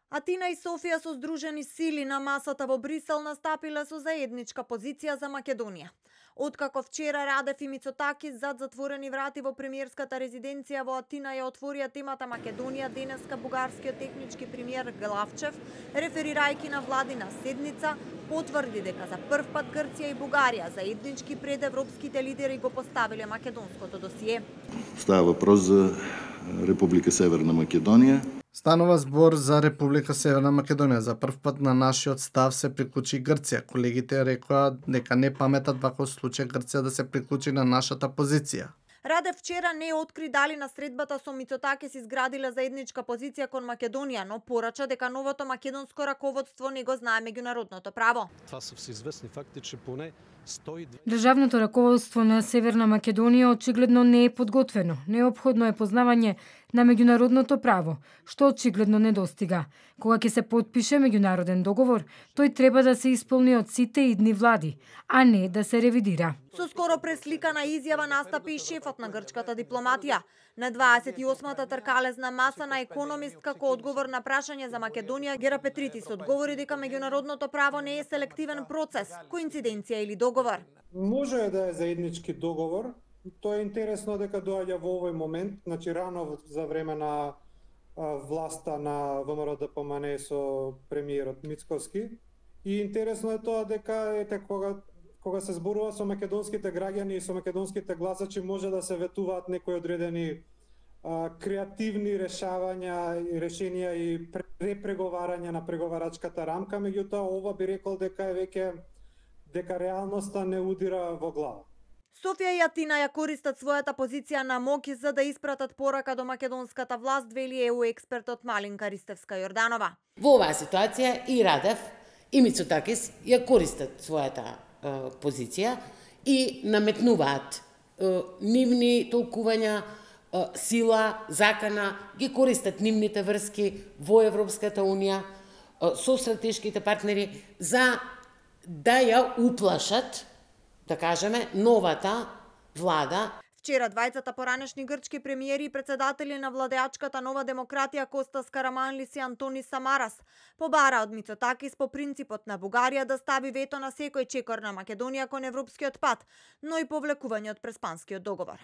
Атина и Софија со здружени сили на масата во Брисел настапиле со заедничка позиција за Македонија. Откако вчера Радев и Мицотакис зад затворени врати во премиерската резиденција во Атина ја отворија темата Македонија, денеска бугарскиот технички премиер Главчев, реферирајќи на владина седница, потврди дека за прв пат Грција и Бугарија заеднички пред европските лидери го поставиле македонското досие. Става въпрос за Република Северна Македонија. Станува збор за Република Северна Македонија. За прв пат на нашиот став се приклучи Грција. Колегите рекоа дека не паметат вако случај Грција да се приклучи на нашата позиција. Радев вчера не откри дали на средбата со Мицотакис изградиле заедничка позиција кон Македонија, но порача дека новото македонско раководство не го знае меѓународното право. Това се всеизвестни факти, че поне 102... Државното раководство на Северна Македонија очигледно не е подготвено. Неопходно е познавање на меѓународното право, што очигледно недостига. Кога ќе се потпише меѓународен договор, тој треба да се исполни од сите идни влади, а не да се ревидира. Со скоро пресликана изјава настапи и шефот на грчката дипломатија. На 28-та тркалезна маса на Економист како одговор на прашање за Македонија, Гера Петритис одговори дека меѓународното право не е селективен процес, коинциденција или договор. Може да е заеднички договор. Тоа е интересно дека доаѓа во овој момент, значи рано за време на власта на ВМРО ДПМН со премиерот Мицковски. И интересно е тоа дека кога се зборува со македонските граѓани и со македонските гласачи може да се ветуваат некои одредени креативни решенија и препреговарање на преговарачката рамка, меѓутоа ова би рекол дека дека реалноста не удира во глава. Софија и Атина ја користат својата позиција на моќ за да испратат порака до македонската власт, вели ЕУ експертот Малинка Ристевска-Јорданова. Во оваа ситуација и Радев и Мицотакис ја користат својата позиција и наметнуваат нивни толкувања, сила, закана, ги користат нивните врски во Европската Унија со стратешките партнери за да ја уплашат, да кажеме, новата влада. Вчера двајцата поранешни грчки премиери и председатели на владеачката Нова демократија Костас Караманлис и Антони Самарас побара од Мицотакис по принципот на Бугарија да стави вето на секој чекор на Македонија кон европскиот пат, но и повлекување од Преспанскиот договор.